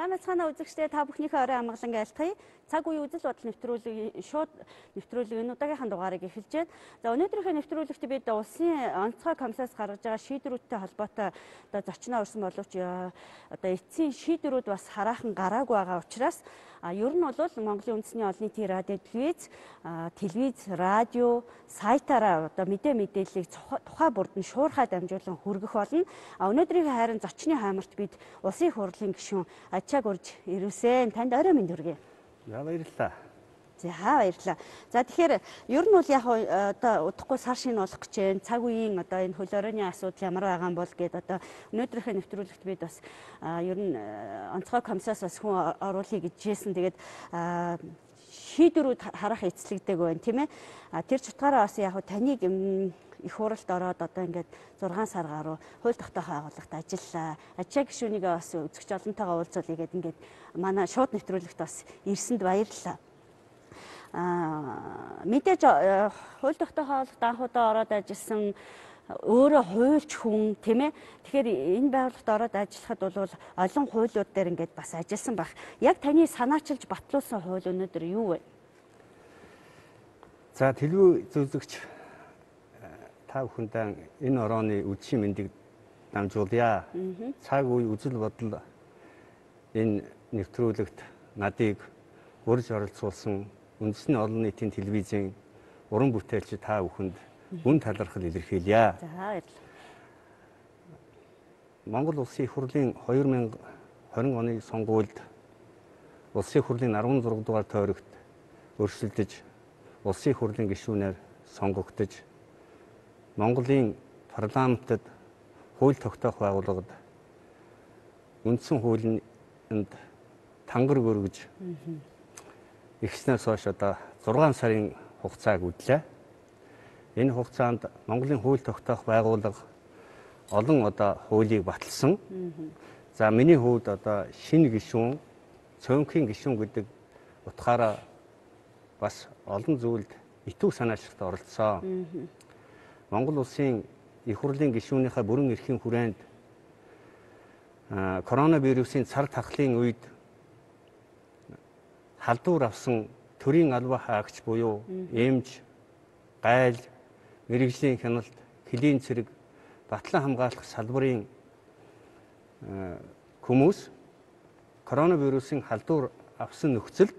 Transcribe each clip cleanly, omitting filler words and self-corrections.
Сайн мэцгаана үзэгчдээ та бүхнийхээ орой амгалан айлтгая. Цаг үеийн үзэл бодол нэвтрүүлэг шууд нэвтрүүлэг энэ удаагийнхаа дугаарыг эхэлж байна. За өнөөдрийнхөө нэвтрүүлэгт бид улсын онцгой комиссаас гаргаж байгаа шийдвэрүүдтэй холбоотой зочноо урьсан боловч эцсийн шийдвэрүүд бас хараахан гараагүй байгаа учраас ер нь бол Монголын үндэсний олон нийтийн радио, телевиз, радио, сайтаараа мэдээ мэдээллийг тухай бүрд нь шуурхай дамжуулан хүргэх болно. Өнөөдрийн харин зочны хаймарт бид улсын их хурлын гишүүн Ачааг урьж ирвсэн. Танд орой минь хүргэе. За баярлалаа. За баярлалаа. За тэгэхээр ер нь бол яг удахгүй сар шинэ болох гэж байна. Цаг үеийн энэ хөл хорионы асуудал ямар байгаа юм бол гэдэг өнөөдрийнхөө нэвтрүүлэгт бид бас ер нь онцгой комиссаас бас хүн оруулъя гэж хэлсэн. Тэгээд шийдвэрүүд харах эцэлэгдэг байна, тийм ээ. Тэр чутгаараа бас яг таныг их хуралд ороод ингээд 6 сар гаруй хууль тогтоохоо байгууллагт ажиллаа. Ачаа гишүүнийг бас үзэгч олонтойгоо уулзуулъя гэдэг ингээд манай шууд нэвтрүүлэгт бас ирсэнд баярлалаа. Мэдээж хууль тогтоохоо байгууллагт анхудаа ороод ажилласан өөрөө хуульч хүн, тийм ээ. Тэгэхээр энэ байгууллагт ороод ажиллахад бол олон хуулиуд дээр ингээд бас ажилласан байх. Яг таны санаачилж батлуулсан хууль өнөөдөр юу вэ? За телевиз үзэгч та бүхэндээ энэ орооны үдшийн мэндийг дамжуулъя. Цаг үе үзэл бодол энэ нэвтрүүлэгт надыг урьж оролцуулсан үндэсний олон нийтийн телевизийн уран бүтээлч та бүхэнд үн талархал илэрхийлье. За баярлалаа. Монгол Улсын их хурлын 2020 оны сонгуульд Улсын их хурлын 16 дугаар тойрогт өрсөлдөж Улсын их хурлын гишүүнээр сонгогдож Монголын парламентод хууль тогтоох байгууллагад үндсэн хуулинд тангар өргөж эхснээс хойш 6 сарын хугацааг үдлээ. Энэ хугацаанд Монголын хууль тогтоох байгууллага олон хуулийг баталсан. За миний хувьд шинэ гишүүн, цөөнхийн гишүүн гэдэг утгаараа бас олон зүйлд итүү санаачлагт оролцсон. Монгол Улсын их хурлын гишүүнийхээ бүрэн эрхийн хүрээнд коронавирусын цар тахлын үед халдвар авсан төрийн албан хаагч буюу эмч, гайл, мэрэгжлийн хяналт, хөлийн цэрэг, батлан хамгаалах салбарын хүмүүс коронавирусын халдвар авсан нөхцөлд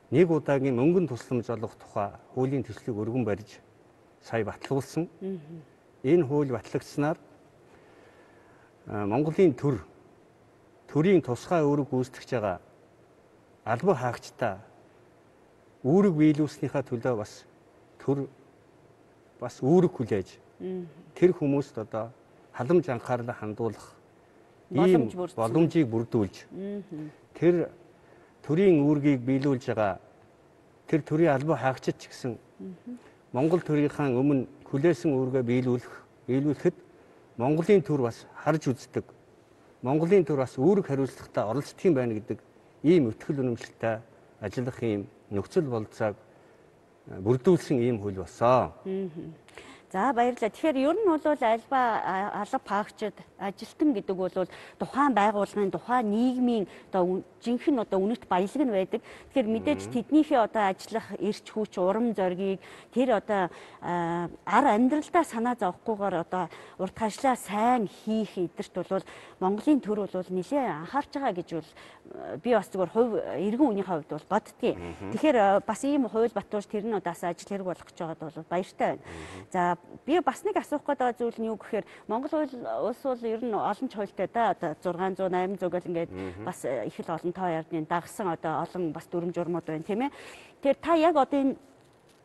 нэг удаагийн мөнгөн тусламж олох тухай хуулийн төслийг өргөн барьж сая батлуулсан. Энэ хууль батлагдсанаар Монголын төрийн тусгай үүрэг гүйцэтгэж байгаа албан хаагчдаа үүрэг биелүүлснийхаа төлөө бас үүрэг хүлээж тэр хүмүүст халамж анхаарлаа хандуулах ийм боломжийг бүрдүүлж тэр төрийн үүргийг биелүүлж байгаа тэр төрийн албан хаагчид ч гэсэн Монгол төрийнхаа өмнө хүлээсэн үүргээ биелүүлэхэд Монголын төр бас харж үздэг. Монголын төр бас үүрэг хариуцлагатай оролцдог юм байна гэдэг ийм өтгөл үнэмшилтэй ажиллах ийм нөхцөл болцоог бүрдүүлсэн ийм хууль болсон. За баярлалаа. Тэгэхээр ер нь бол алба хаагчид ажилтан гэдэг бол тухайн байгууллагын, тухайн нийгмийн жинхэнэ үнэт баялаг нь байдаг. Тэгэхээр мэдээж тэднийхээ ажиллах эрч хүч, урам зоригийг тэр ар амьдралдаа санаа зовхгүйгээр урт хажлаа сайн хийх эдэрт бол Монголын төр бол нэлээд анхаарч байгаа гэж бол би бас зөвхөн хувь иргэн үнийхээ хувьд бол боддгийг. Тэгэхээр бас ийм хууль батуулж тэр нь бас ажил хэрэг болох гэж байгаад бол баяртай байна. За би бас нэг асуух гэдэг зүйл нь юу гэхээр Монгол улс бол ер нь олон ч хуультай 600, 800 гэл ингээд бас их л олон тоо ярдны дагсан олон бас дүрм журмууд байна, тийм ээ. Тэгэхээр та яг энэ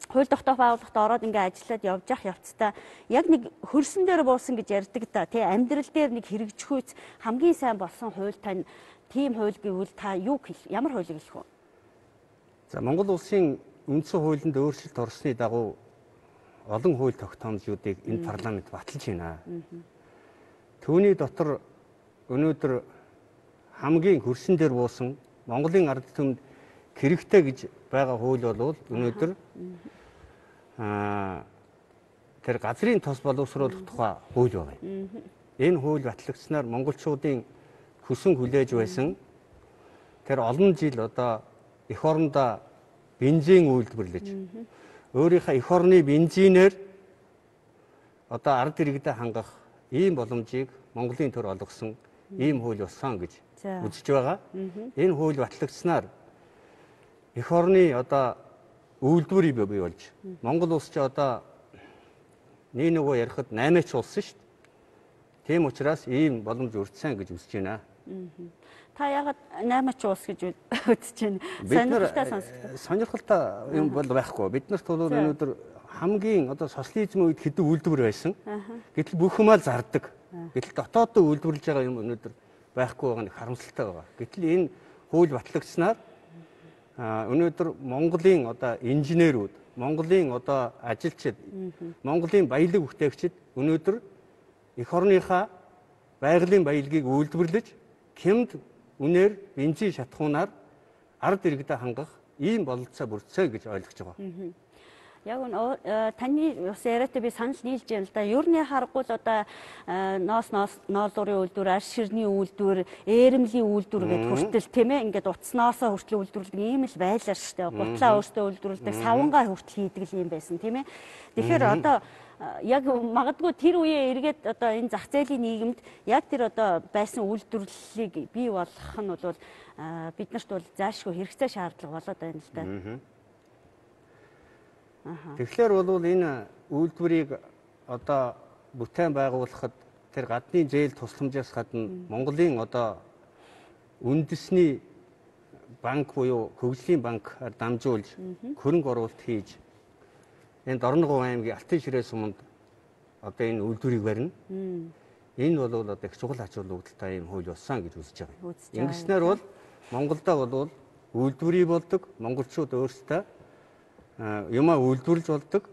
хууль тогтоох байгууллагт ороод ингээд ажиллаад явж явах явцдаа яг нэг хөрсөн дээр буусан гэж ярьдаг тий амьдрал дээр нэг хэрэгжихүйц хамгийн сайн болсон хууль тань тийм хууль гэвэл та юу ямар хуулийг хэлэх вэ? За Монгол улсын үндсэн хуулинд өөрчлөлт орсны дагуу олон хууль тогтоомжуудыг энэ парламент баталж байна. Түүний дотор өнөөдөр хамгийн хөрсөн дээр буусан Монголын ард түмэнд хэрэгтэй гэж байгаа хууль бол өнөөдөр тэр газрын тос боловсруулах тухай хууль байна. Энэ хууль батлагдсанаар монголчуудын хүсэн хүлээж байсан тэр олон жил одоо эх орондоо бензин үйлдвэрлэж өөрийнхөө эх орны бензинээр одоо ард иргэдэд хангах ийм боломжийг Монголын төр олгосон ийм хууль болсон гэж үзэж байгаа. Энэ хууль батлагдсанаар эх орны одоо үйлдвэрийг бий болж Монгол улс ч одоо нэг нөгөө ярихад 8-ч улс шүү дээ. Тийм учраас ийм боломж өртсөн гэж үзэж байна. Та яагаад 8-ч улс гэж үзэж байна? Сонирхолтой сонсдог. Сонирхолтой юм бол байхгүй. Биднэрт бол өнөөдөр хамгийн одоо социализм үед хэдэн үйлдвэр байсан. Гэтэл бүх юмаа зардаг. Гэтэл дотооддоо үйлдвэрлэж байгаа юм өнөөдөр байхгүй байгаа нь харамсалтай байгаа. Гэтэл энэ хууль батлагдсанаар өнөөдөр Монголын одоо инженерүүд, Монголын одоо ажилчид, Монголын баялаг бүтээгчид өнөөдөр эх орныхаа байгалийн баялагийг үйлдвэрлэж хямд үнээр бензин шатхуунаар ард иргэдэд хангах ийм бололцоо бүрдсэн гэж ойлгож байгаа. Яг таны бас яриатай би санал нийлж байна л да. Ер нь харахгүй л одоо ноолуурын үйлдвэр, арс ширний үйлдвэр, ээрэмлийн үйлдвэр гэдэг хүртэл тийм ээ ингээд утаснаасаа хүртэл үйлдвэрлэдэг ийм л байлаа шүү дээ. Гутлаа өөртөө үйлдвэрлэдэг, савангаа хүртэл хийдэг юм байсан тийм ээ. Тэгэхээр одоо яг магадгүй тэр үеэ эргээд одоо энэ зах зээлийн нийгэмд яг тэр одоо байсан үйлдвэрлэлийг бий болгох нь бол биднэрт бол заашгүй хэрэгцээ шаардлага болоод байна л да. Тэгэхээр бол энэ үйлдвэрийг одоо бүтээн байгуулахад тэр гадны зээл тусламжаас гадна Монголын одоо үндэсний банк буюу хөгжлийн банкаар дамжуулж хөрөнгө оруулалт хийж энэ Дорногов аймгийн Алтан ширээ суманд одоо энэ үйлдвэрийг барина. Энэ бол одоо их чухал ач холбогдолтой юм хууль болсон гэж үзэж байгаа. Ингэснээр бол Монголдо бол үйлдвэрийг болдог, монголчууд өөрсдөө юмаа үйлдвэрлэж болдог,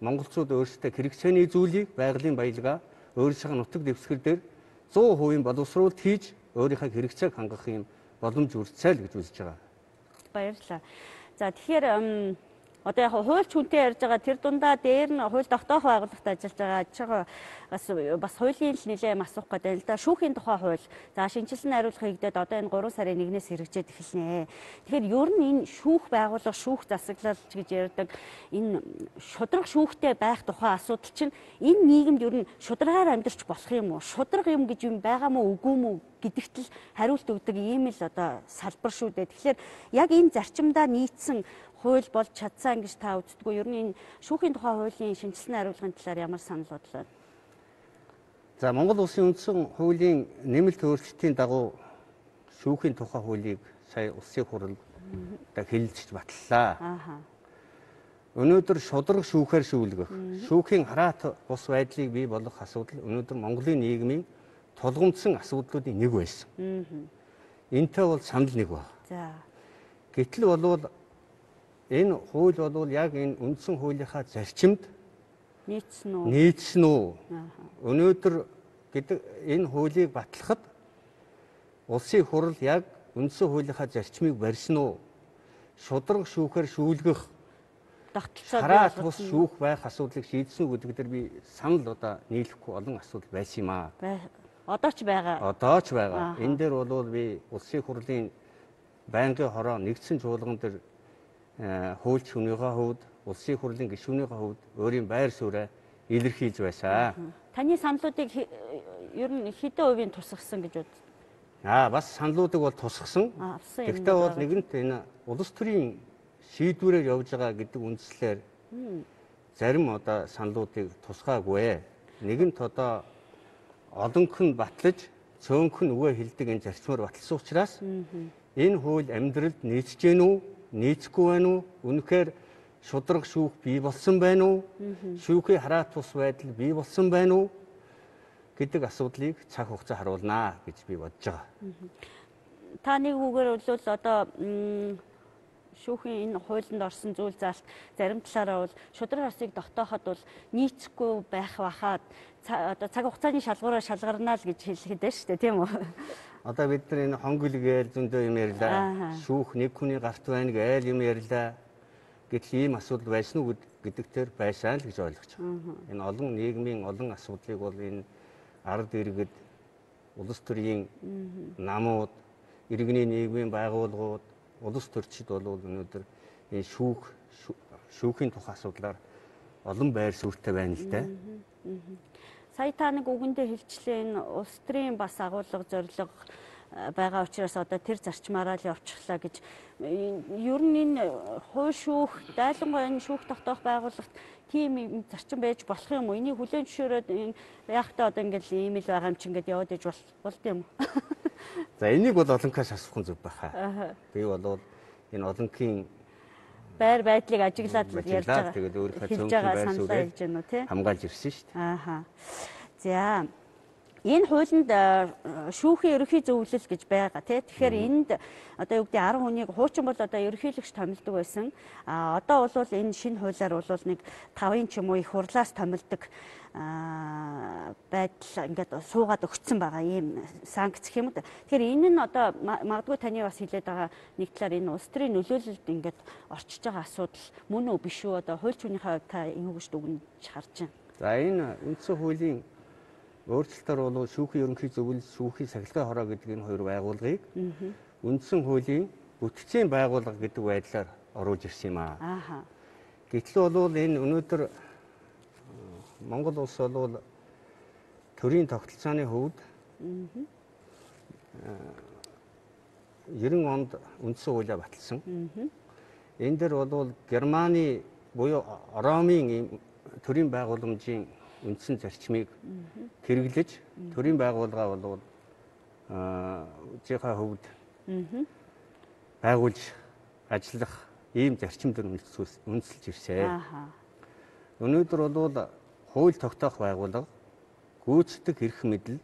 монголчууд өөрсдөө хэрэгцээний зүйлийг байгалийн баялгаа өөрсдийнхээ нутаг дэвсгэр дээр 100% боловсруулалт хийж өөрийнхөө хэрэгцээг хангах юм боломж үрцэл гэж үзэж байгаа. Баярлалаа. За тэгэхээр одоо яг хуульч хүнтэй ярьж байгаа тэр дундаа дээр нь хууль тогтоох байгууллагт ажиллаж байгаа бас хуулийн л нэлээд асуух гэдэг л да. Шүүхийн тухай хууль. За шинжилсэн хариулах хийгдээд одоо энэ 3 сарын 1-ээс хэрэгжээд эхэлнэ. Тэгэхээр ер нь энэ шүүх байгууллага, шүүх засаглалч гэж ярьдаг энэ шудраг шүүхтэй байх тухай асуудал чинь энэ нийгэмд ер нь шударгаар амьдарч болох юм уу? Шудраг юм гэж юм байгаа мó үгүй мó гэдэгт л хариулт өгдөг ийм л одоо салбар шүү дээ. Тэгэхээр яг энэ зарчимдаа нийцсэн хууль болж чадсан гэж та үздэггүй. Ер нь энэ шүүхийн тухай хуулийн шинжилсэн хариулгын талаар ямар санал бодлоо? За Монгол Улсын үндсэн хуулийн нэмэлт өөрчлөлтийн дагуу шүүхийн тухай хуулийг сая улсын хурал хэлэлцэж батллаа. Өнөөдөр шудраг шүүхээр шүүлгэх, шүүхийн хараат бус байдлыг бий болгох асуудал өнөөдөр Монголын нийгмийн тулгымдсан асуудлуудын нэг байсан. Энтэй бол санал нэг байна. За. Гэтэл болвол энэ хууль бол яг энэ үндсэн хуулийнхаа зарчимд нийцсэн үү? Өнөөдөр гэдэг энэ хуулийг батлахад улсын хурал яг үндсэн хуулийнхаа зарчмыг барьсан уу? Шудраг шүүхээр шүүлгэх хараат бус шүүх байх асуудлыг шийдсэн үү гэдэг дээр би санал одоо нийлэхгүй олон асуудал байсан юм аа. Одоо ч байгаа. Одоо ч байгаа. Энэ дээр бол би улсын хурлын байнгын хороо нэгдсэн чуулган дээр хуульч хүнийхээ хувьд, улсын хурлын гишүүнийхээ хувьд өөрийн байр сууриа илэрхийлж байсан. Таны саналуудыг ер нь хэдэн хувийн тусгасан гэж бод? Бас саналуудыг бол тусгасан. Гэхдээ бол нэгэнт энэ улс төрийн шийдвэрээр явж байгаа гэдэг үндслээр зарим одоо саналуудыг тусгаагүй. Нэгэнт одоо олонх нь батлаж, цөөнх нь үгээ хэлдэг энэ зарчмаар батлсан учраас энэ хууль амьдралд нийцэж гэнэ үү, нийцэхгүй байна уу? Үнэхээр шудраг шүүх бий болсон байна уу? Шүүхийн хараат тус байдал бий болсон байна уу? Гэдэг асуудлыг цаг хугацаа харуулнаа гэж би бодож байгаа. Та нэг үгээр бол одоо шүүхийн энэ хуулинд орсон зүйл заалт зарим талаараа бол шудраг арсыг тогтооход бол нийцэхгүй байх бахаад одоо цаг хугацааны шалгуураар шалгарнаа л гэж хэлэхэд байна шүү дээ, тийм үү? Одоо бид нар энэ хонгил гээл зөндөө юм ярьлаа. Шүүх нэг хүний гарт байна гээл юм ярьлаа. Гэтэл ийм асуудал байсан уу гэдэгтэр байсан л гэж ойлгож байгаа. Энэ олон нийгмийн олон асуудлыг бол энэ ард иргэд, улс төрийн намууд, иргэний нийгмийн байгууллагууд, улс төрчид бол өнөөдөр энэ шүүхийн тухай асуудлаар олон байр суурьтай байна л дээ. Сая та нэг үгэндээ хэлчлээ энэ улс төрийн бас агуулга зорилго байгаа учраас одоо тэр зарчмаараа л явчихлаа гэж. Ер нь энэ хууль шүүх, дайлангуй энэ шүүх тогтоох байгууллагт тийм зарчим байж болох юм уу? Энийг хүлээн зөвшөөрөөд яахтаа одоо ингээл ийм л байгаа юм чи ингээд яваад иж болд юм уу? За энийг бол олонхоос асуух нь зөв байхаа. Би бол энэ олонхийн байр байдлыг ажиглаад ярьж байгаа. Тэгээд өөрийнхөө цөөнхийн байр суурийг хамгаалж ирсэн шүү дээ. Ааха. За энэ хуулинд шүүхийн ерөнхий зөвлөл гэж байгаа тий. Тэгэхээр энд одоо юу гэдэг 10 хүнийг хуучин бол одоо ерөнхийлөгч томилдог байсан. Одоо бол энэ шинэ хуулиар бол нэг 5-ын ч юм уу их хурлаас томилдог байдал ингээд суугаад өгцсөн байгаа ийм санкц гэх юм уу. Тэгэхээр энэ нь одоо магадгүй таны бас хэлээд байгаа нэг талаар энэ улс төрийн нөлөөлөлд ингээд орчиж байгаа асуудал мөн үү биш үү? Одоо хууль зүйнийхээ хувьд та энэ үгэж дүгнэж харж байна. За энэ үндсэн хуулийн өөрчлөлтөөр бол шүүхийн ерөнхий зөвлөл, шүүхийн сахилгын хороо гэдэг энэ хоёр байгууллагыг үндсэн хуулийн бүтцийн байгууллага гэдэг байдлаар оруулж ирсэн юм аа. Гэтэл бол энэ өнөөдөр Монгол улс бол төрийн тогтолцооны хувьд 90 онд үндсэн хуулиа баталсан. Энэ дээр бол Германы буюу Ромын ийм төрийн байгууламжийн үндсэн зарчмыг хэрэглэж төрийн байгууллага бол жихаа хөвд байгуулж ажиллах ийм зарчимд үндэслэж ирсэн. Өнөөдөр бол хууль тогтоох байгууллага, гүйцэтгэх эрх мэдэл,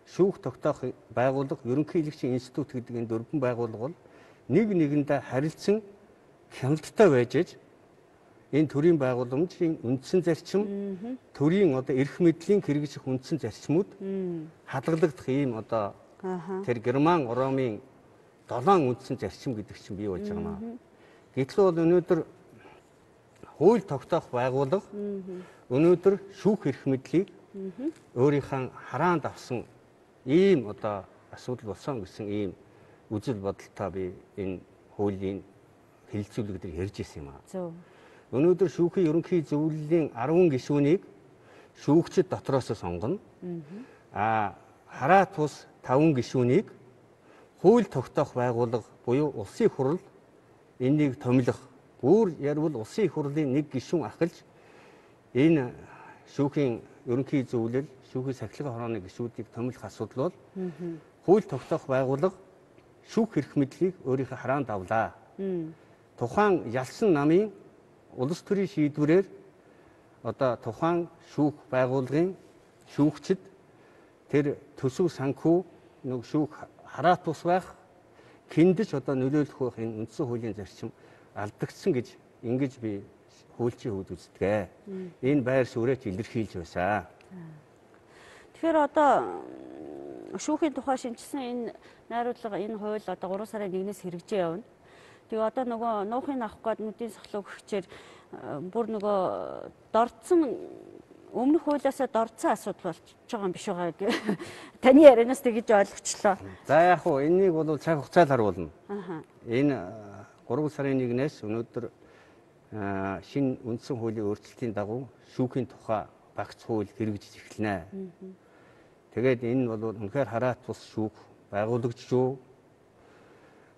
шүүх тогтоох байгууллага, ерөнхийлөгчийн институт гэдэг энэ дөрвөн байгууллага бол нэг нэгэндээ харилцан хяналттай байж энэ төрийн байгууламжийн үндсэн зарчим, төрийн одоо эрх мэдлийн хэрэгжих үндсэн зарчмууд хадгалагдах ийм одоо тэр Герман, Ромын 7 үндсэн зарчим гэдэг чинь бий болж байгаа юм. Гэтэл бол өнөөдөр хууль тогтоох байгууллага өнөөдөр шүүх эрх мэдлийг өөрийнхөө хараанд авсан ийм одоо асуудал болсон гэсэн ийм үзэл бодолтой би энэ хуулийн хэлэлцүүлэгдэр ярьж ирсэн юм аа. Өнөөдөр шүүхийн ерөнхий зөвлөлийн 10 гишүүнийг шүүгчид дотроос сонгоно. Хараа тус 5 гишүүнийг хууль тогтоох байгууллага буюу улсын хурал энийг томилох. Бүр ярил улсын хурлын нэг гишүүн ахалж энэ шүүхийн ерөнхий зөвлөл, шүүхийн сахилгын хорооны гишүүдийг томилох асуудал бол хууль тогтоох байгууллага шүүх эрх мэдлийг өөрийнхөө хараанд авлаа. Тухайн ялсан намын улс төрийн шийдвэрээр одоо тухайн шүүх байгууллагын шүүгчид тэр төсөв санхүү нэг шүүх хараат тус байх хиндэж одоо нөлөөлөх байх энэ үндсэн хуулийн зарчим алдагдсан гэж ингэж би хуульчийн хувьд үздэг. Энэ байр суурьд илэрхийлж байсан. Тэгэхээр одоо шүүхийн тухай шинжилсэн энэ найруулга, энэ хууль одоо 3 сарын 1-ээс хэрэгжээ явна. Тэгээ одоо нөгөө нуухын авах гээд нүдийн сахлуу өгчээр бүр нөгөө дордсон өмнөх хуулиасаа дордсон асуудал болж байгаа юм биш байгаа. Таны ярианаас тэгж ойлгочлоо. За яг хуу энийг бол цаг хугацаар харуулна. Энэ 3 сарын 1-ээс өнөөдөр шинэ үндсэн хуулийн өөрчлөлтийн дагуу шүүхийн тухай багц хууль хэрэгжиж эхэлнэ. Тэгээд энэ бол үнэхээр хараат тус шүүх байгуулагдж юу?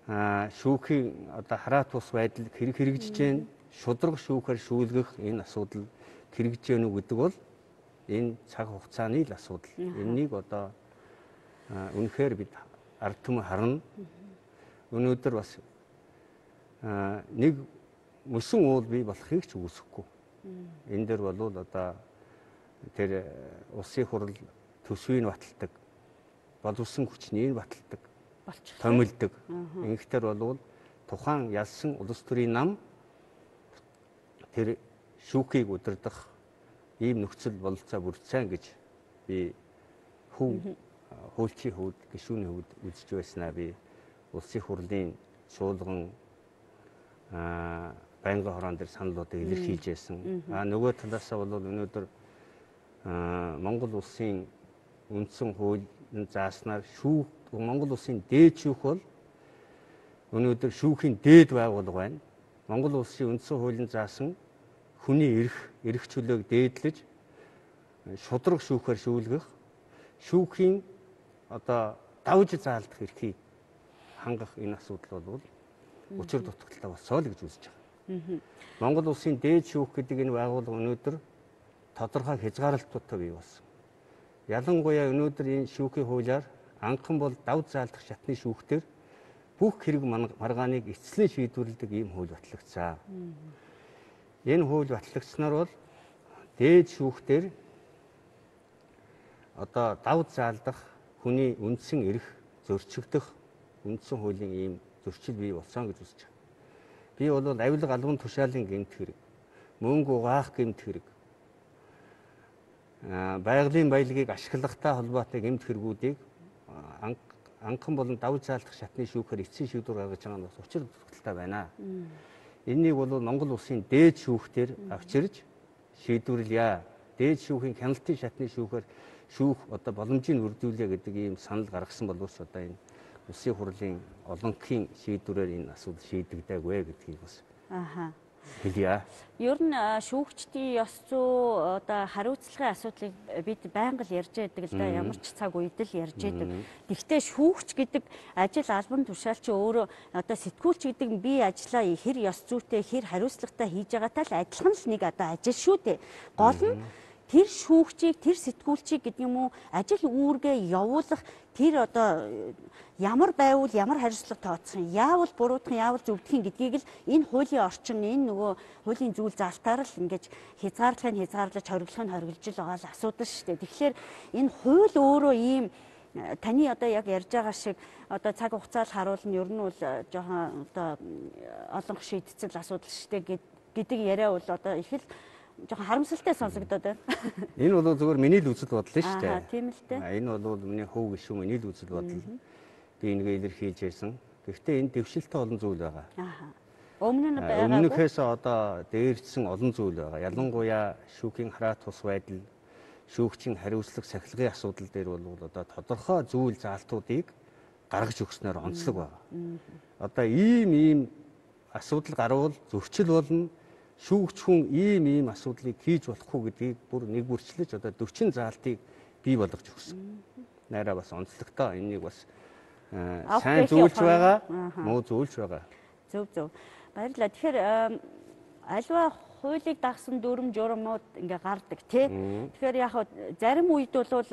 Шүүхийн одоо хараат тус байдал хэрэгжиж гэн шудраг шүүхээр шүүлгэх энэ асуудал хэрэгжиж гэнэ үү гэдэг бол энэ цаг хугацааны л асуудал. Энэнийг одоо үнэхээр бид ард түмэн харна. Өнөөдөр бас нэг мөсөн уул бий болохыг ч үүсэхгүй. Энэ дээр бол одоо тэр улсын хурал төсвийг баталдаг, боловсон хүчнийг баталдаг, томилдог. Ингэхтэр бол тухайн ялсан улс төрийн нам тэр шүүхийг удирдах ийм нөхцөл бололцоо бүрдсэн гэж би хуульчийн хувьд, гишүүний хувьд үзэж байснаа би улсын хурлын чуулган байнгын хороон дээр саналуудыг илэрхийлж байсан. Нөгөө талаасаа бол өнөөдөр Монгол улсын үндсэн хуулийн зааснаар Монгол улсын дээд шүүх бол өнөөдөр шүүхийн дээд байгууллага байна. Монгол улсын үндсэн хуулийн заасан хүний эрх чөлөөг дээдлэж шудраг шүүхээр шүүлгэх, шүүхийн одоо давж заалдах эрхийг хангах энэ асуудал бол учир дутагдaltaй болсоо л гэж үзэж байгаа. Монгол улсын дээд шүүх гэдэг энэ байгууллага өнөөдөр тодорхой хязгаарлалтуудтай бий болсон. Ялангуяа өнөөдөр энэ шүүхийн хуулиар анхан бол давж заалдах шатны шүүхтэр бүх хэрэг маргааныг эцэслэн шийдвэрлэдэг ийм хууль батлагдсан. Энэ хууль батлагдсанаар бол дээд шүүхтэр одоо давж заалдах хүний үндсэн эрх зөрчигдөх үндсэн хуулийн ийм зөрчил бий болсон гэж үзэж байна. Би бол авилга албан тушаалын гэмт хэрэг, мөнгө угаах гэмт хэрэг, байгалийн баялагийг ашиглахтай холбоотой гэмт хэрэгүүдийг анхан болон давж заалдах шатны шүүхээр эцсийн шийдвэр гаргаж байгаа нь бас учир дутагдaltaй байна. Энэнийг бол Монгол улсын дээд шүүхтэр авчирж шийдвэрлэе. Дээд шүүхийн хяналтын шатны шүүхээр шүүх одоо боломжийг үрдүүлээ гэдэг ийм санал гаргасан боловч одоо энэ улсын хурлын олонхын шийдвэрээр энэ асуудал шийдэгдээгүй гэдгийг бас хэлье. Ер нь шүүгчдийн ёс зүй одоо хариуцлагын асуудлыг бид байнга л ярьж байдаг л да, ямар ч цаг үед л ярьж байдаг. Гэхдээ шүүгч гэдэг ажил албан тушаалч өөрөө одоо сэтгүүлч гэдэг нь би ажлаа хэр ёс зүйтэй, хэр хариуцлагатай хийж байгаатай л адилхан л нэг одоо ажил шүү дээ. Гол нь тэр шүүгчийг, тэр сэтгүүлчийг гэдэг юм уу ажил үүргээ явуулах тэр одоо ямар байвал ямар хариуцлага тооцох юм, яавал буруутгах, яавал зөвдөх гэдгийг л энэ хуулийн орчин, энэ нөгөө хуулийн зүйл залтаар л ингэж хязгаарлаж хориглож л байгаа л асуудал шүү дээ. Тэгэхээр энэ хууль өөрөө ийм таны одоо яг ярьж байгаа шиг одоо цаг хугацааг харуулна, ер нь бол жоохон одоо олонх шийдцэл асуудал шүү дээ гэдэг яриа бол одоо их л жоохон харамсалтай сонсогдоод байна. Энэ бол зөвхөн миний л үзэл бодол шүү дээ. Тийм л дээ. Энэ бол миний хов гişүү миний л үзэл бодол. Би энийг илэрхийлж байсан. Гэхдээ энэ дэвшилтэй олон зүйл байгаа. Өмнө нь байгаагүй. Өмнөхөөс одоо дээрчсэн олон зүйл байгаа. Ялангуяа шүүхийн хараат тус байдал, шүүгчийн хариуцлага сахилгын асуудал дээр бол одоо тодорхой зүйл заалтуудыг гаргаж өгснөөр онцлог байгаа. Одоо ийм асуудал гарвал зөрчил болно. Шүүгч хүн ийм асуудлыг хийж болохгүй гэдгийг бүр нэг бүрчлэж одоо 40 заалтыг бий болгож өгсөн. Найраа бас онцлогтой энийг бас сайн зөвлөж байгаа, муу зөвлөж байгаа. Зөв. Баярлалаа. Тэгэхээр альва хуулийг дагсан дүрм журмууд ингээ гардаг тий. Тэгэхээр яг зарим үед бол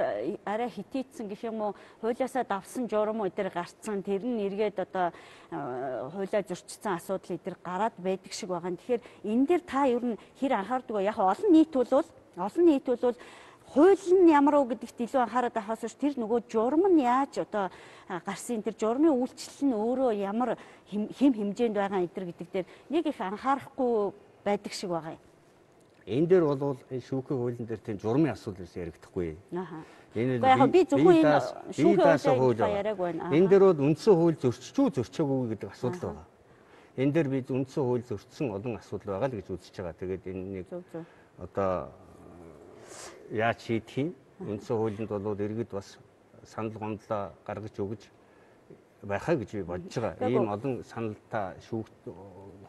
арай хитийдсэн гэх юм уу хуулиасаа давсан журм өдр гарцсан тэр нь эргээд одоо хуулиа зөрчсөн асуудал эдэр гараад байдаг шиг байгаа. Тэгэхээр энэ дээр та ер нь хэр анхаардаг вэ? Яг олон нийт бол хууль нь ямар уу гэдэгт илүү анхаарал тавихаас тэр нөгөө журам нь яаж одоо гарсан тэр журмын үйлчлэл нь өөрөө ямар хэм хэмжээнд байгаа эдэр гэдэг дээр нэг их анхаарахгүй байдаг шиг байгаа юм. Энэ дээр бол шүүхийн хуулийн дээр тийм журмын асуудал яригдахгүй. Энэ би зөвхөн энэ шүүхийн хуулийг яриаг байна. Энэ дээр бол үндсэн хууль зөрчөөгүй гэдэг асуудал байгаа. Энэ дээр бид үндсэн хууль зөрчсөн олон асуудал байгаа л гэж үзэж байгаа. Тэгээд энэ нэг одоо яаж шийдэх юм? Үндсэн хуулинд бол иргэд бас санал гомдлоо гаргаж өгж байхаа гэж би бодож байгаа. Ийм олон саналтай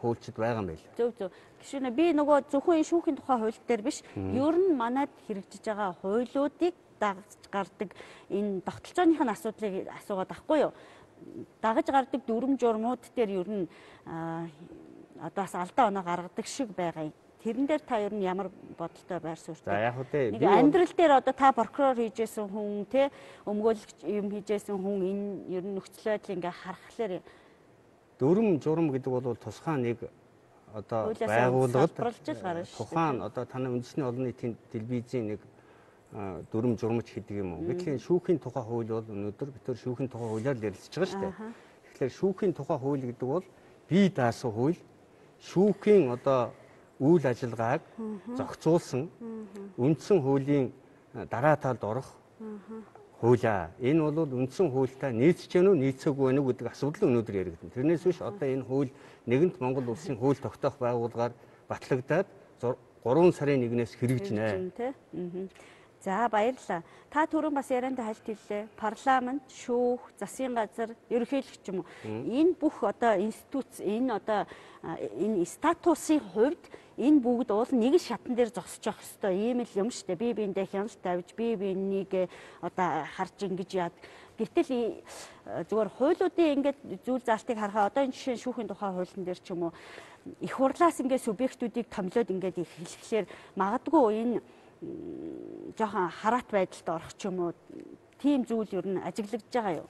хуульчид байгаа юм байна. Зөв. Гişүнэ би нөгөө зөвхөн шүүхийн тухай хууль дээр биш, ер нь манайд хэрэгжиж байгаа хуулиудыг дагаж гардаг энэ тогтолцооныхын асуудлыг асуугаад байхгүй юу? Дагаж гардаг дүрм журмууд дээр ер нь одоо бас алдаа оноо гаргадаг шиг байгаа юм. Тэрэн дээр та ер нь ямар бодолтой байр суурьтай? За яг үгүй би амьдрал дээр одоо та прокурор хийжсэн хүн те өмгөөлөгч юм хийжсэн хүн энэ ер нь нөхцөл байдлыг ингээ харахаар дүрм журм гэдэг бол тусгай нэг одоо байгууллагад тухайн одоо таны үндэсний олон нийтийн телевизийн нэг дүрм журмч гэдэг юм уу. Гэтэл шүүхийн тухай хууль бол өнөөдөр бид төр шүүхийн тухай хуулиар ярилцж байгаа шүү дээ. Тэгэхээр шүүхийн тухай хууль гэдэг бол бие даасан хууль, шүүхийн одоо үйл ажиллагааг зохицуулсан үндсэн хуулийн дараа талд орох хуулиа. Энэ бол үндсэн хуультай нийцэж гэнэ үү, нийцээгүй байна уу гэдэг асуудал өнөөдөр яригдана. Тэрнээс биш одоо энэ хууль нэгэнт Монгол улсын хууль тогтоох байгууллагаар батлагдаад 3 сарын 1-ээс хэрэгжинэ. За баярлалаа. Та түрүүн бас ярианд хальт хэллээ. Парламент, шүүх, засгийн газар, ерөнхийлөгч юм уу? Энэ бүх одоо институт, энэ одоо энэ статусын хувьд энэ бүгд уул нэг шатан дээр зогсож явах хэрэгтэй. Ийм л юм шүү дээ. Бие биендээ хяналт тавьж, бие биенийг одоо харж ингэж яад. Гэтэл зүгээр хуулиудын ингээд зүйл заалтыг харахаа одоо энэ жишээ шүүхийн тухай хуулийн дээр ч юм уу их хурлаас ингээд субъектүүдийг томилоод ингээд хэлэхлээр магадгүй энэ жоохон хараат байдалд орох ч юм уу тийм зүйл ер нь ажиглагдж байгаа юу?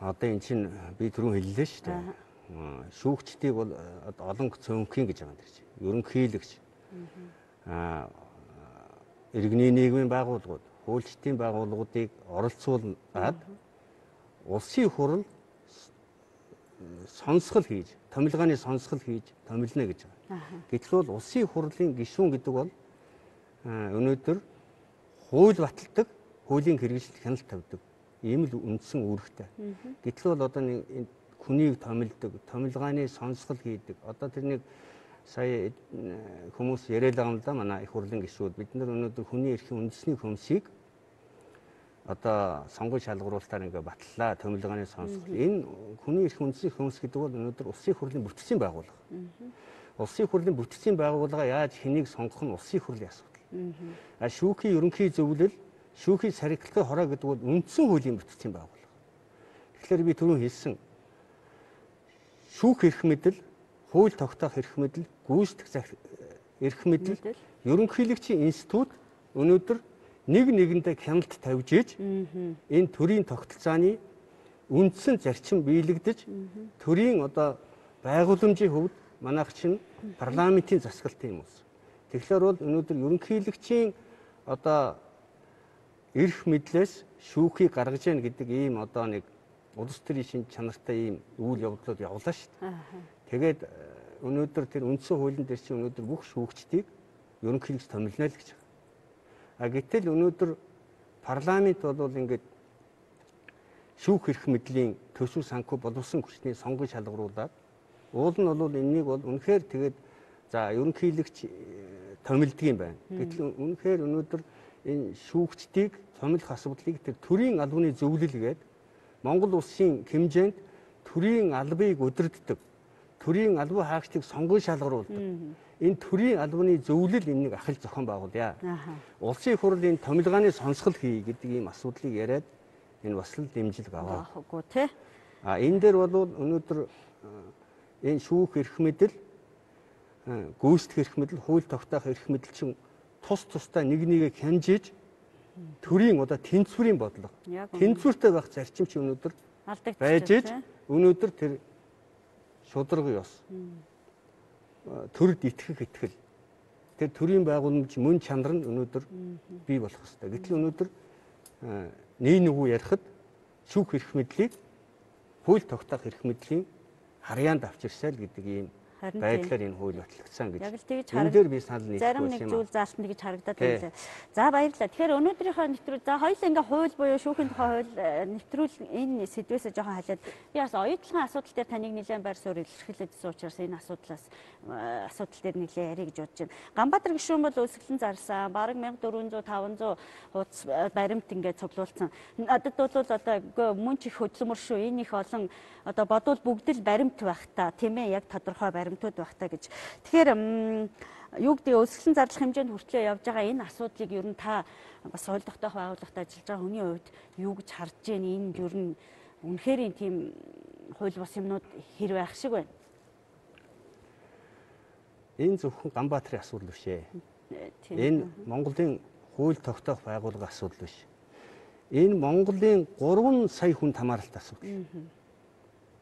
Одоо эн чинь би түрүүн хэллээ шүү дээ. Шүүгчдийг бол олон цөөнхийн гэж байгаа юм дэрч. Ерөнхийлөгч. Иргэний нийгмийн байгууллагууд, хуульчдын байгууллагуудыг оролцуулаад улсын хурал сонсгол хийж, томилгааны сонсгол хийж томилно гэж байгаа. Гэтэл бол улсын хурлын гишүүн гэдэг бол өнөөдөр хууль баталдаг, хуулийн хэрэгжилт хяналт тавьдаг. Ийм л үндсэн үүрэгтэй. Гэтэл бол одоо нэг хүнийг томилдог, томилгааны сонсгол хийдэг. Одоо тэр нэг сая хүмүүс яриад байгаа юм да манай их хурлын гишүүд. Бид нар өнөөдөр хүний эрхийн үндэсний хөмсийг одоо сонгуульд шалгаруулалтаар ингээ батлаа, томилгааны сонсгол. Энэ хүний эрхийн үндэсний хөмс гэдэг бол өнөөдөр улсын хурлын бүтцийн байгууллага. Улсын хурлын бүтцийн байгууллага яаж хэнийг сонгох нь улсын хурлын асуудал. Шүүхийн ерөнхий зөвлөл, шүүхийн сархилгын хороо гэдэг бол үндсэн хуулийн бүтцийн байгууллага. Тэгэхээр би түрүүн хэлсэн шүүх эрх мэдэл, хууль тогтоох эрх мэдэл, гүйцэтгэх эрх мэдэл, ерөнхийлөгчийн институт өнөөдөр нэг нэгэндээ хяналт тавьж ийж энэ төрийн тогтолцооны үндсэн зарчим биелэгдэж төрийн одоо байгууламжийн хувьд манайх чинь парламентын засаглалтай юм уус. Тэгэхээр бол өнөөдөр ерөнхийлөгчийн одоо эрх мэдлээс шүүхийг гаргаж яах гэдэг ийм одоо нэг улс төрийн шин чанартай ийм үйл явдлууд явуулаа шүү дээ. Тэгээд өнөөдөр тэр үндсэн хуулийн дээр чинь өнөөдөр бүх шүүгчдийг ерөнхийлөгч томилно л гэж байгаа. Гэтэл өнөөдөр парламент бол ингээд шүүх эрх мэдлийн төсөв санхүү боловсон хүчний сонгон шалгаруулад уул нь бол энэнийг бол үнэхээр тэгээд за ерөнхийлөгч томилдог юм байна. Гэтэл үнэхээр өнөөдөр энэ шүүгчдийг томилох асуудлыг тэр төрийн албаны зөвлөлгээд Монгол улсын хэмжээнд төрийн албыг удирддаг, төрийн албан хаагчдыг сонгон шалгаруулдаг. Энэ төрийн албаны зөвлөл энэнийг ахил зохион байгуулъя. Улсын хурлын томилгааны сонсгол хий гэдэг ийм асуудлыг яриад энэ бас л дэмжлэг аваа. Үгүй тий. Энэ дээр бол өнөөдөр энэ шүүх эрх мэдэл, гүйцэтгэх эрх мэдэл, хууль тогтоох эрх мэдэл чинь тусдаа нэг нэгээ хянжиж төрийн одоо тэнцвэрийн бодлого, тэнцвэртэй байх зарчим чи өнөөдөр байж иж өнөөдөр тэр шударга ёс, төрд итгэх итгэл, тэр төрийн байгууламж мөн чанар нь өнөөдөр бий болох хэрэгтэй. Гэтэл өнөөдөр нэг нүгүү ярихад шүүх эрх мэдлийг, хууль тогтоох эрх мэдлийн харьяанд авчирсайл гэдэг ийм байдлаар энэ хууль батлагдсан гэж. Яг л тэгж энэ дээр би санал нийлэх зарим нэг зүйл заалтан тэгж харагдаад байлаа. За баярлалаа. Тэгэхээр өнөөдрийнхөө нэвтрүүл за хоёул ингээ хууль буюу шүүхийн тухай хууль нэвтрүүл энэ сэдвээс жоохон халиад би бас оюутлын асуудал дээр таныг нэлээд байр суурь илэрхийлэжсэн учраас энэ асуудал дээр нэлээд ярих гэж бодож байна. Ганбаатар гишүүн бол өсөглөн зарсан. Бараг 1400 500 хуудас баримт ингээ цуглуулсан. Надад бол одоо мөн ч их хөдөлмөр шүү. Энэ их олон одоо бодвол бүгд л баримт байх та тийм ээ яг тодорхой баримтууд байх та гэж. Тэгэхээр юу гэдэг өсөглөн зарлах хэмжээнд хүртлээ явж байгаа энэ асуудлыг ер нь та бас соёл тогтоох байгууллагад ажиллаж байгаа хүний хувьд юу гэж харж байна? Энэ ер нь үнэхээр тийм хууль бус юмнууд хэр байх шиг байна. Энэ зөвхөн Ганбаатарын асуудал биш ээ. Энэ Монголын хууль тогтоох байгууллагын асуудал биш. Энэ Монголын 3 сая хүн хамааралтай асуудал.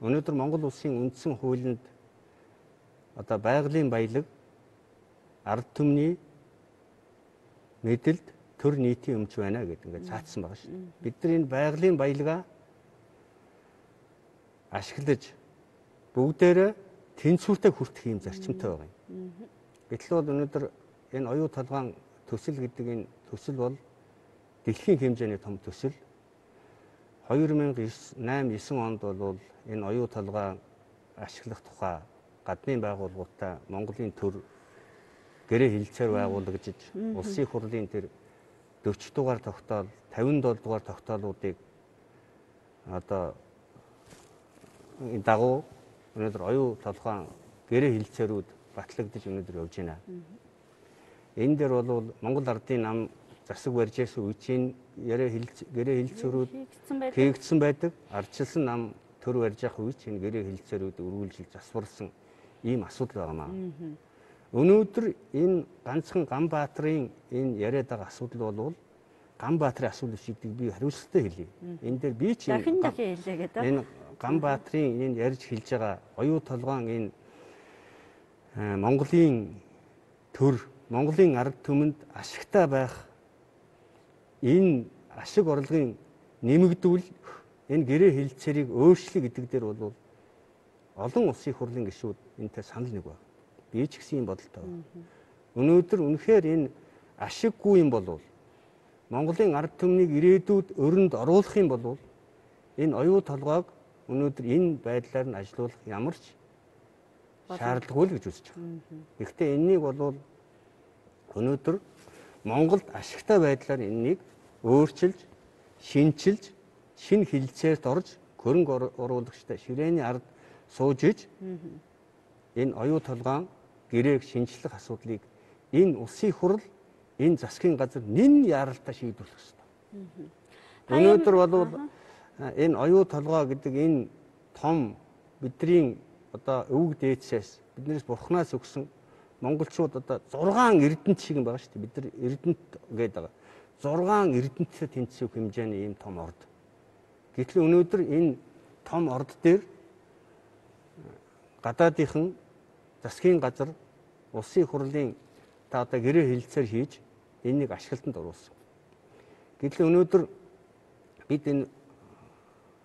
Өнөөдөр Монгол улсын үндсэн хуулинд одоо байгалийн баялаг, ард түмний мэдэлд төр нийтийн өмч байна гэдэг ингээд цаатсан байгаа шүү дээ. Бид нар энэ байгалийн баялагаа ашиглаж бүгдээрээ тэнцвэртэй хүртэх юм зарчимтай байгаа юм. Гэтэл бол өнөөдөр энэ оюу толгойн төсөл гэдэг энэ төсөл бол дэлхийн хэмжээний том төсөл. 2008-9 онд бол энэ оюу толгой ашиглах тухай гадны байгууллагуудаа Монголын төр гэрээ хилцээр байгуулагдаж улсын хурлын тэр 40 дугаар тогтоол, 57 дугаар тогтоолуудыг одоо энэ дагуу өнөөдөр оюу толгойн гэрээ хилцээрүүд батлагдаж өнөөдөр явж байна. Энэ дээр бол Монгол Ардын нам засаг барьж ирсэн үе чинь гэрээ хилцээрүүд хийгдсэн байдаг. Ардчилсан нам төр барьж явах үе чинь гэрээ хилцээрүүд өргүүлжил засварсан ийм асуудал байгаамаа. Өнөөдөр энэ ганцхан Ганбаатарын энэ яриад байгаа асуудал бол Ганбаатарын асуудал шийддэг би хариуцлагатай хэлье. Энэ дээр би чинь дахин хэлээ гэдэг. Энэ Ганбаатарын энэ ярьж хэлж байгаа оюу толгойн энэ Монголын төр, Монголын ард түмэнд ашигтай байх энэ ашиг орлогын нэмэгдүүл энэ гэрээ хилцээрийг өөрчлөе гэдэг дээр бол олон улсын хурлын гишүүд энэтэй санал нэг байна. Би ч гэсэн юм бодолтой байна. Өнөөдөр үнэхээр энэ ашиггүй юм бол Монголын ард түмнийг ирээдүйд өрөнд оруулах юм бол энэ оюу толгойг өнөөдөр энэ байдлаар нь ажилуулах ямар ч шаардлагагүй л гэж үзэж байгаа. Гэхдээ энэнийг бол өнөөдөр Монголд ашигтай байдлаар энэнийг өөрчилж, шинчилж, шинэ хилцээрт орж, хөрөнгө оруулагчтай ширээний ард сууж иж энэ оюу толгойн гэрээг шинжлэх асуудлыг энэ улсын хурал, энэ засгийн газар нэн яралтай шийдвэрлэх ёстой. Өнөөдөр бол энэ оюу толгой гэдэг энэ том бидний одоо өвөг дээдсээс биднээс бурхнаас өгсөн монголчууд одоо 6 эрдэнэт шиг юм байгаа шүү дээ. Бид нар эрдэнэт гэдэг байгаа. 6 эрдэнэттэй тэнцвэх хэмжээний ийм том орд. Гэтэл өнөөдөр энэ том орд дээр гадаадынхан засгийн газар улсын хурлын та одоо гэрээ хилцээр хийж энэнийг ашиглалтанд оруулсан. Гэтэл өнөөдөр бид энэ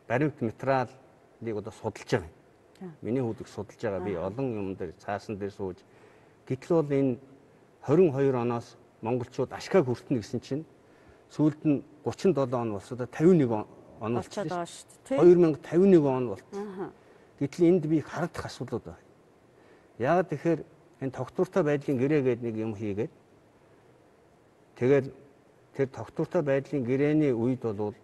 баримт материалыг одоо судалж байгаа юм. Миний хүүдийг судалж байгаа. Би олон юм дээр цаасан дээр сууж. Гэтэл бол энэ 22 оноос монголчууд ашгааг хүртэнэ гэсэн чинь сүүлд нь 37 он болсоо 51 он болчихлоо шүү дээ. 2051 он болчихсон. Гэтэл энд би харагдах асуудлууд байна. Яагаад тэгэхээр энэ тогтвортой байдлын гэрээ гэдэг нэг юм хийгээд тэгээд тэр тогтвортой байдлын гэрээний үед бол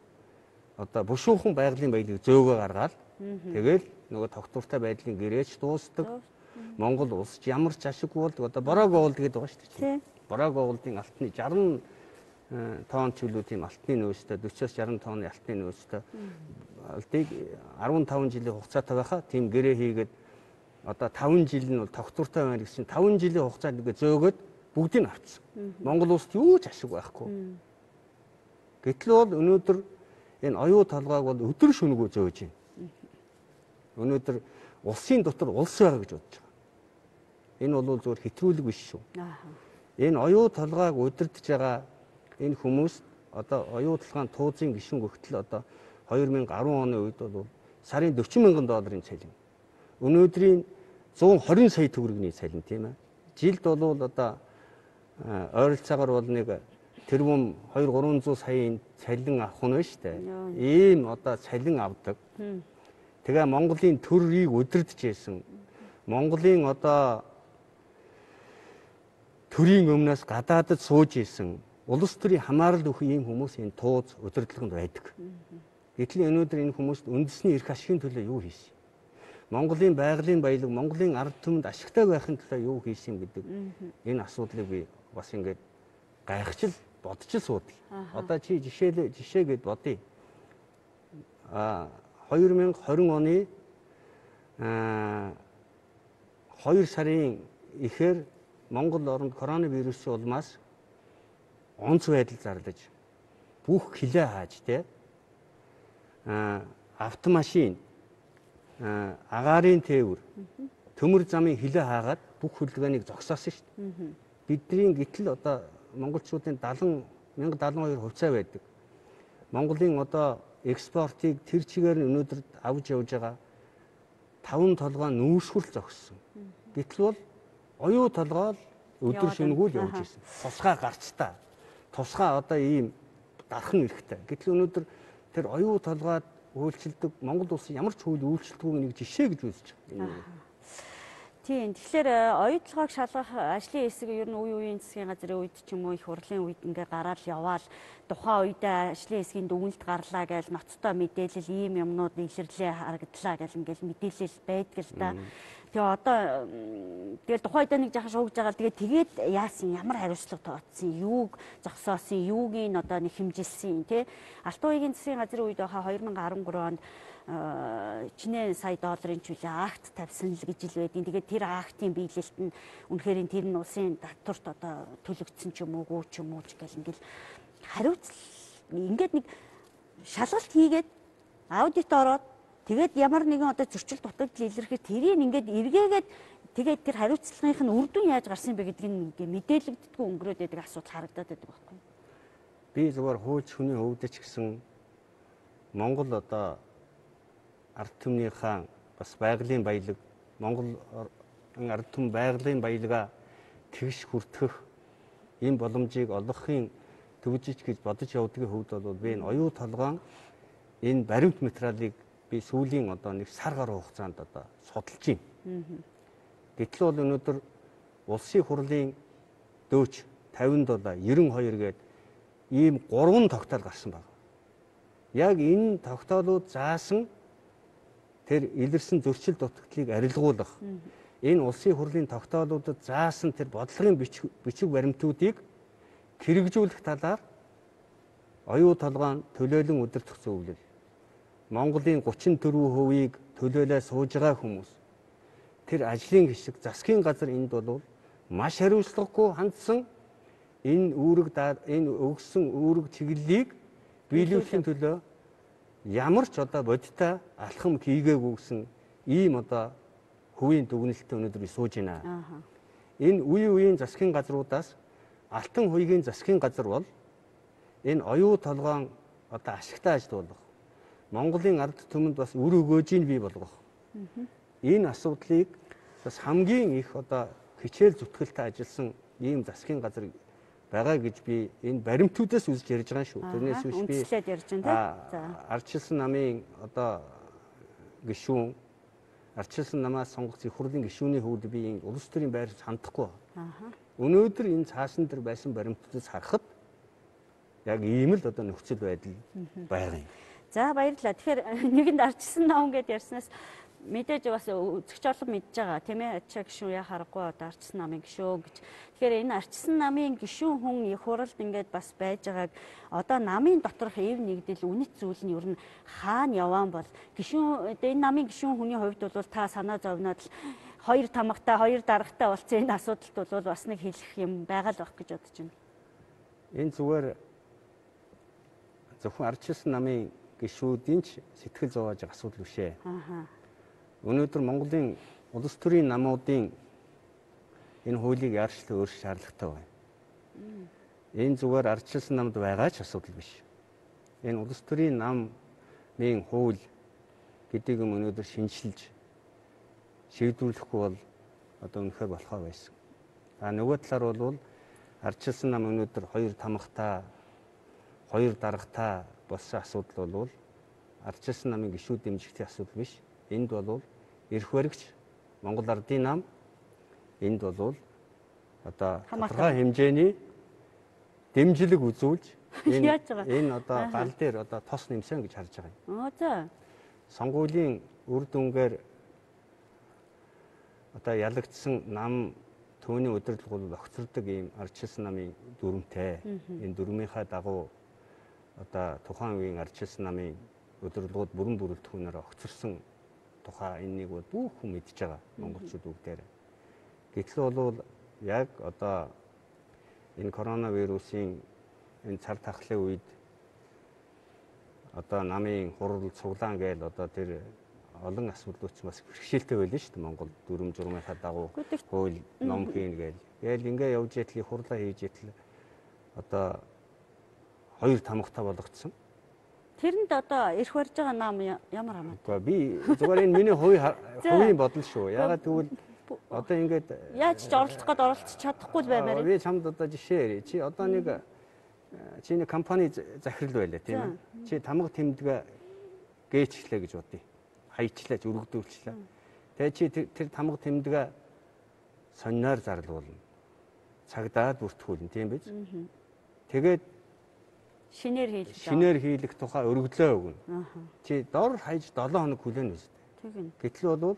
одоо бушуухан байгалийн баялаг зөөгөө гаргаад тэгээд нөгөө тогтвортой байдлын гэрээч дуустдаг. Монгол улс ямар ч ашиггүй болдог. Одоо Бороо гоолд гэдэг байгаа шүү дээ. Бороо гоолдын алтны 60 тонн чөлөөтийн алтны нөөцтэй 40-60 тонны алтны нөөцтэй алтыг 15 жилийн хугацаатай байхаа тийм гэрээ хийгээд одоо 5 жил нь бол тогтвортой байна гэсэн 5 жилийн хугацаанд ингээ зөөгөөд бүгдийг авчихсан. Монгол улсад юу ч ашиг байхгүй. Гэтэл бол өнөөдөр энэ оюу толгойг бол өдөр шөнөгүй зөөж байна. Өнөөдөр улсын дотор улс байгаа гэж бодож байгаа. Энэ бол зөвхөн хэтрүүлэг биш шүү. Энэ оюу толгойг удирдах байгаа энэ хүмүүс одоо оюу толгойн туузын гишүүн өгтөл одоо 2010 оны үед бол сарын 40 мянган долларын цалин. Өнөөдрийн 120 сая төгрөгийн цалин тийм ээ. Жилд бол одоо ойролцоогоор бол нэг тэрбум 2-300 саяын цалин авах нь шүү дээ. Ийм одоо цалин авдаг. Тэгээ Монголын төрийг удирдах байсан. Монголын одоо төрийн өмнөөс гадаадд сууж исэн улс төрийн хамаарал өгөх ийм хүмүүс энэ тууз удирдлаганд байдаг. Гэтэл өнөөдөр энэ хүмүүст үндэсний эрх ашигын төлөө юу хийсэн? Монголын байгалийн баялаг, Монголын ард түмэнд ашигтай байхын төлөө юу хийсэн гэдэг энэ асуудлыг би бас ингээд гайхчил бодож суудаг. Одоо чи жишээгээд бодъё. 2020 оны 2 сарын эхээр Монгол оронд коронавирусын улмаас онц байдал зарлаж бүх хилээ хааж те автомашин агаарын тээвэр төмөр замын хилээ хаагаад бүх хөдөлгөөнийг зогсоосон шүү дээ. Бидний гэтэл одоо монголчуудын 1072 хувьцаа байдаг. Монголын одоо экспортыг тэр чигээр нь өнөөдөр авч явж байгаа 5 толгой нүүрсгүр зогссон. Гэтэл бол оюу толгой өдөр шөнөгүй л явж ирсэн. Тусгай гарцтай. Тусгай одоо ийм дархан эрэхтэй. Гэтэл өнөөдөр тэр оюу толгойд үйлчлдэг Монгол улсын ямар ч хууль үйлчлдэггүй нэг жишээ гэж үзэж байна. Тийм. Тэгэхээр оюутлогоог шалгах ажлын хэсэг ер нь үеийн засгийн газрын үед ч юм уу их хурлын үед ингээ гараад яваал тухайн үедээ ажлын хэсгийн дүгнэлт гарлаа гэж ноцтой мэдээлэл ийм юмнууд илэрлээ харагдлаа гэж ингээл мэдээлэл байдаг л да. Тэгээ одоо тэгэл тухайн үедээ нэг жаахан шуугж байгаа л тэгээд яасан ямар хариуцлага тооцсон, юуг зогсоосон, юуг нь одоо нэг хэмжилсэн тий. Алтан уугийн засгийн газрын үед хаа 2013 онд $1 сая чөлөө акт тавьсан л гэж ил байдیں۔ Тэгээд тэр актын биелэлт нь үнэхээр тэр нь улсын татварт одоо төлөгдсөн ч юм уу ч юм уу ч гэл ингээл хариуцлага ингээд нэг шалгалт хийгээд аудит ороод тэгээд ямар нэгэн одоо зөрчил дутагдал илэрхээр тэрийг ингээд эргээгээд тэгээд тэр хариуцлагынх нь үр дүн яаж гарсан бэ гэдгийг ингээд мэдээлэгддэггүй өнгөрөөд байдаг асуудал харагдаад байдаг байхгүй. Би зөвхөн хууч хүний өвдөж гисэн Монгол одоо ард түмнийхээ бас байгалийн баялаг Монгол ард түмэн байгалийн баялгаа тэгш хүртэх энэ боломжийг олгохын төвжиж гэж бодож явдгийн хувьд бол би энэ оюу толгоон энэ баримт материалыг би сүүлийн одоо нэг сар гаруй хугацаанд одоо судалж байна. Гэтэл бол өнөөдөр улсын хурлын дөөч 50 $92 гээд ийм 3 тогтоол гарсан байна. Яг энэ тогтоолууд заасан тэр илэрсэн зөрчил дутагдлыг арилгуулах энэ улсын хурлын тогтоолуудад заасан тэр бодлогын бичиг баримтуудыг хэрэгжүүлэх талаар оюу толгойн төлөөлөн удирдах зөвлөл. Монголын 34%-ийг төлөөлөө сууж байгаа хүмүүс. Тэр ажлын хэсэг засгийн газар энд бол маш хариуцлагагүй хандсан энэ өгсөн үүрэг чиглэлийг биелүүлэхийн төлөө ямар ч одоо бодиттой алхам хийгээгүй гэсэн ийм одоо хувийн дүгнэлттэй өнөөдөр сууж байна. Энэ үеийн засгийн газруудаас Алтан хуйгийн засгийн газар бол энэ оюу толгоон одоо ашигтай ажилуулах Монголын ард түмэнд бас үр өгөөжийг бий болгох. Энэ асуудлыг бас хамгийн их одоо хичээл зүтгэлтэй ажилласан ийм засгийн газар байгаа гэж би энэ баримтуудаас үзэж ярьж байгаа шүү. Тэрнээс биш би үндэслээд ярьж байна тийм. Ардчилсан намын одоо гишүүн Ардчилсан намаас сонгогдсон их хурлын гишүүний хувьд би энэ улс төрийн байр хандахгүй. Өнөөдөр энэ цаасан дээр байсан баримтуудаас харахад яг ийм л одоо нөхцөл байдал байгаа юм. За баярлалаа. Тэгэхээр нэгэнд Ардчилсан ном гэдээ ярьснаас мэдээж бас үзэгч орлого мэдж байгаа тийм ээ. Ачаа гишүүн яа харахгүй одоо Ардчилсан намын гишүүн гэж. Тэгэхээр энэ Ардчилсан намын гишүүн хүн их хуралд ингээд бас байж байгааг одоо намын доторх эв нэгдэл үнэт зүйл нь ер нь хаана яваан бол гишүүн энэ намын гишүүн хүний хувьд бол та санаа зовноод л хоёр тамгатай хоёр даргатай болсон энэ асуудалд бол бас нэг хэлэх юм байгаа л байх гэж бодож байна. Энэ зүгээр зөвхөн Ардчилсан намын гишүүдийн ч сэтгэл зовоож асуудал биш ээ. Өнөөдөр Монголын улс төрийн намуудын энэ хуулийг яарчлан өөрчлөх шаардлагатай байна. Энэ зүгээр Ардчилсан намд байгаа ч асуудал биш. Энэ улс төрийн намын хууль гэдэг юм өнөөдөр шинжилж шийдвэрлэхгүй бол одоо үнэхээр болохоо байсан. Нөгөө талаар бол Ардчилсан нам өнөөдөр хоёр тамгатай, хоёр даргатай болсон асуудал бол Ардчилсан намын гишүүд дэмжигдэх асуудал биш. Энд бол эрх баригч Монгол Ардын нам энд бол одоо тодорхой хэмжээний дэмжлэг үзүүлж энэ одоо гал дээр одоо тос нэмсэн гэж харж байгаа юм. За. Сонгуулийн үр дүнгээр одоо ялагдсан нам төвний удирдлага бол огцордог ийм Ардчилсан намын дүрмтэй. Энэ дүрмийнхаа дагуу одоо тухайн үеийн Ардчилсан намын удирдлагууд бүрэн бүрэлдэхүүнээр огцорсон тухай энэнийг бол бүх хүн мэдж байгаа монголчууд бүгдээр. Гэтэл бол яг одоо энэ коронавирусын энэ цар тахлын үед одоо намын хурал цуглаан гээл одоо тэр олон асуудлууд ч бас бэрхшээлтэй байлаа шүү дээ. Монгол дүрм журмынхаа дагуу хууль ном хийн гээл ингээ явж итэл хурлаа хийж итэл одоо хоёр тамгатай болгоцсон. Тэрэнд одоо эрх барьж байгаа нам ямар хамаатай? Би зүгээр энэ миний хувийн бодол шүү. Ягаад гэвэл одоо ингээд яаж ч оролцох гээд оролцож чадахгүй л баймаар. Би чамд одоо жишээ ярив. Чи одоо нэг чиний компани захирал байлаа тийм ээ. Чи тамга тэмдгээ гээчлээ гэж бодъё. Хаячлаач, өргөдүүлчлээ. Тэгээ чи тэр тамга тэмдгээ сониноор зарлуулна. Цагдаад бүртгүүлнэ тийм биз? Тэгээд шинээр хийлэх тухай өргөдлөө өгнө. Чи дор хаяж 7 хоног хүлээнэ үстэй. Гэтэл бол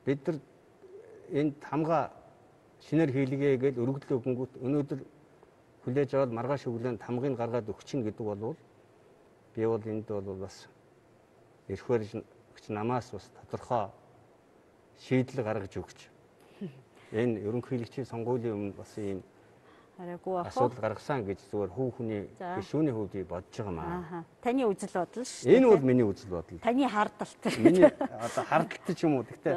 бид нар энэ тамга шинээр хийлгээ гэж өргөдлөө өгөнгүүт өнөөдөр хүлээж аваад маргааш өглөө тамгыг гаргаад өгчин гэдэг бол би бол энд бол бас эрх барьж намаас бас тодорхой шийдэл гаргаж өгч энэ ерөнхийлөгчийн сонгуулийн өмнө бас ийм асуудал гаргасан гэж зүгээр хүү хүний гишүүний хувьд бодож байгаа маа. Таны үзэл бодол шүү дээ. Энэ бол миний үзэл бодол. Таны хардалт. Миний одоо хардалт ч юм уу. Гэхдээ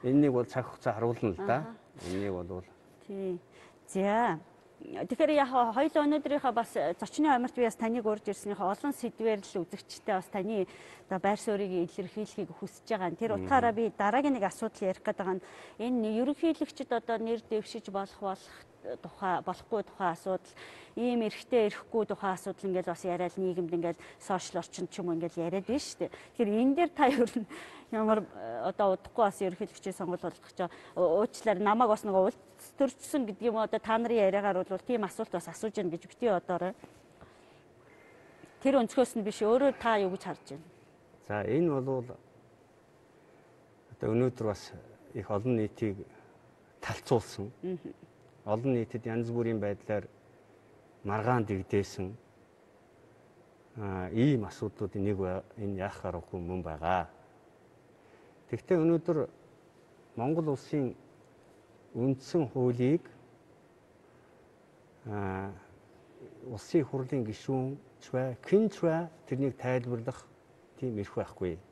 энэнийг бол цаг хугацаа харуулна л да. Энийг бол тий. За. Тэгэхээр яг хоёул өнөөдрийнхөө бас зочны амарт би бас таныг урьж ирснийхээ олон сэдвээр л үзэгчтэй бас таны одоо байр суурийг илэрхийлэхийг хүсэж байгаа. Тэр утгаараа би дараагийн нэг асуудал ярих гэдэг нь энэ ерөнхийлөгчд одоо нэр дэвшиж болохгүй тухай асуудал, ийм эрэхтэй эрэхгүй тухай асуудал ингээд бас яриад нийгэмд ингээд сошиал орчинд ч юм уу ингээд яриад байна шүү дээ. Тэгэхээр энэ дээр та ер нь ямар одоо удахгүй бас ерөнхийлөгчийн сонгуул болгох гэж уучлаарай намайг бас нэг улс төрчсөн гэдэг юм одоо та нарын яриагаар бол тийм асуулт бас асууж яана гэж бити бодоорой. Тэр өнцгөөс нь биш өөрөө та юу гэж харж байна? За энэ бол одоо өнөөдөр бас их олон нийтийг талцуулсан. Олон нийтэд янз бүрийн байдлаар маргаан дэгдээсэн ийм асуудлуудын нэг энэ яах аргагүй мөн байгаа. Тэгвэл өнөөдөр Монгол улсын үндсэн хуулийг улсын хурлын гишүүн хинч бай тэрнийг тайлбарлах тийм эрх байхгүй.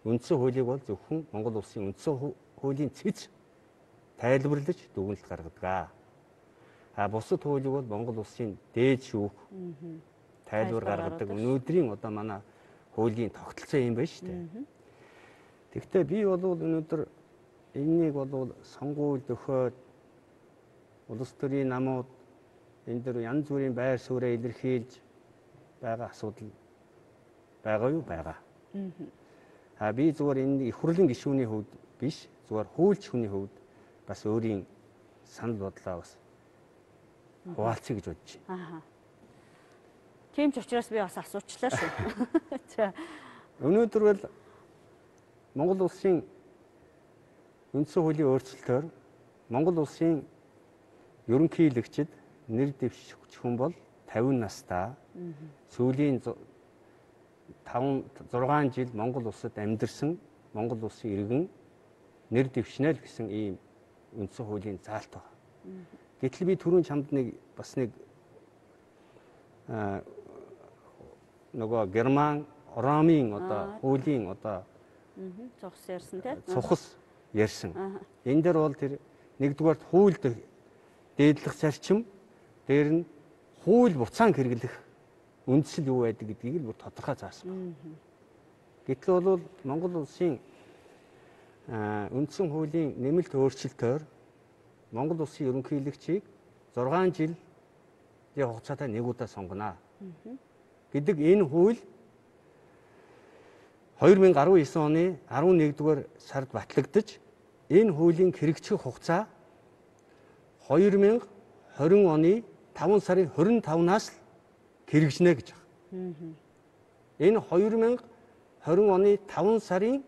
Үндсэн хуулийг бол зөвхөн Монгол улсын үндсэн хуулийн цэц тайлбарлаж дүгнэлт гаргадаг. Бусад хуулийг бол Монгол улсын дээд шүүх тайлбар гаргадаг. Өнөөдрийн одоо манай хуулийн тогтолцоо юм байна шүү дээ. Тэгвэл би бол өнөөдөр энэнийг бол сонгууль өгөхөд улс төрийн намууд энэ дөр янз бүрийн байр сууриа илэрхийлж байгаа асуудал байгаа юу байгаа. Би зүгээр энэ их хурлын гишүүний хувьд биш зүгээр хуульч хүний хувьд бас өөрийн санал бодлоо бас хуваалцъя гэж бодож байна. Тийм ч учраас би бас асуучлаа шүү. За. Өнөөдөр бол Монгол улсын үндсэн хуулийн өөрчлөлтөөр Монгол улсын ерөнхийлөгчд нэр дэвшигч хүн бол 50 настай сүүлийн 5-6 жил Монгол улсад амьдарсан Монгол улсын иргэн нэр дэвшнэ л гэсэн ийм үндсэн хуулийн заалт байна. Гэтэл би түрүүн чамд нэг бас нэг нөгөө Герман Ромын одоо хуулийн одоо цухс ярьсан тийм цухс ярьсан. Энэ дээр бол тэр нэгдүгээр хуульд дээдлэх зарчим дээр нь хууль буцаан хэрэглэх үндсэл юу байдаг гэдгийг л бүр тодорхой заасан байна. Гэтэл бол Монгол улсын үндсэн хуулийн нэмэлт өөрчлөлтөөр Монгол улсын ерөнхийлөгчийг 6 жилийн хугацаатай нэг удаа сонгоно гэдэг энэ хууль 2019 оны 11-р сард батлагдаж энэ хуулийн хэрэгжих хугацаа 2020 оны 5 сарын 25-наас л хэрэгжинэ гэж байна. Энэ 2020 оны 5 сарын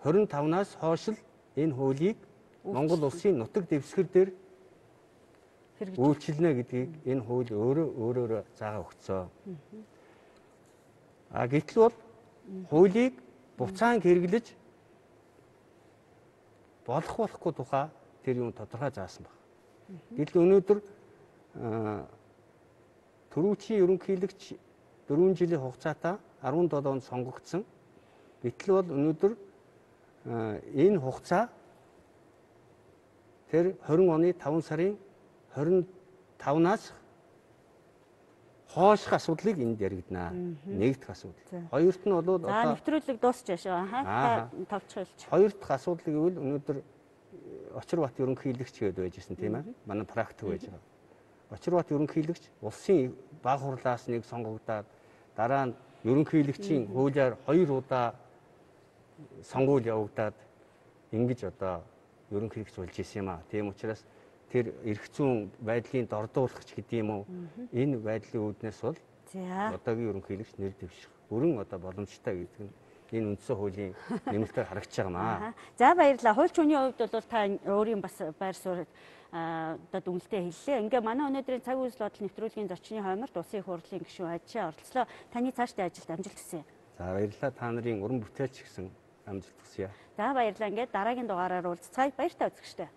25-наас хойш л энэ хуулийг Монгол улсын нутаг дэвсгэр дээр үйлчилнэ гэдгийг энэ хууль өөрөөр заагаа өгсөн. Гэтэл бол хуулийг буцаан хэрэглэж болохгүй тухай тэр юм тодорхой заасан байна. Гэтэл өнөөдөр төрүүчийн ерөнхийлөгч 4 жилийн хугацаатай 17 онд сонгогдсон. Гэтэл бол өнөөдөр энэ хугацаа тэр 20 оны 5 сарын 25-наас хойших асуудлыг энд яригдана. Нэгдэх асуудал. Хоёрт нь бол одоо нэвтрүүлэг дуусч байгаа. Тавчилж. Хоёр дахь асуудал гэвэл өнөөдөр Очир бат ерөнхийлөгч гэдэг байжсэн тийм ээ. Манай практик байж байгаа. Очир бат ерөнхийлөгч улсын баг хурлаас нэг сонгогдоод дараа нь ерөнхийлөгчийн хуулиар 2 удаа сонгуул явагдаад ингэж одоо ерөнхий хэрэгч болж исэн юм аа. Тийм учраас тэр эрх зүйн байдлын дордуулагч гэдэг юм уу? Энэ байдлын үүднээс бол одоогийн ерөнхий хэрэгч нэр дэвших бүрэн одоо боломжтой гэдэг нь энэ үндсэн хуулийн нэмэлтээр харагдаж байгаа маа. За баярлалаа. Хуульч хүний хувьд бол та өөрийн бас байр суурь одоо дүнэлтээ хэллээ. Ингээ манай өнөөдрийн цаг үйл бодол нэвтрүүлгийн зочны хойморт улсын их хурлын гишүүн Ажишаа оролцлоо. Таны цаашдын ажилд амжилт хүсье. За баярлалаа. Та нарын уран бүтээлч гэсэн амжилт хүсье. За баярлалаа. Ингээд дараагийн дугаараар уулзцгаая. Баяртай үзэгчтэй.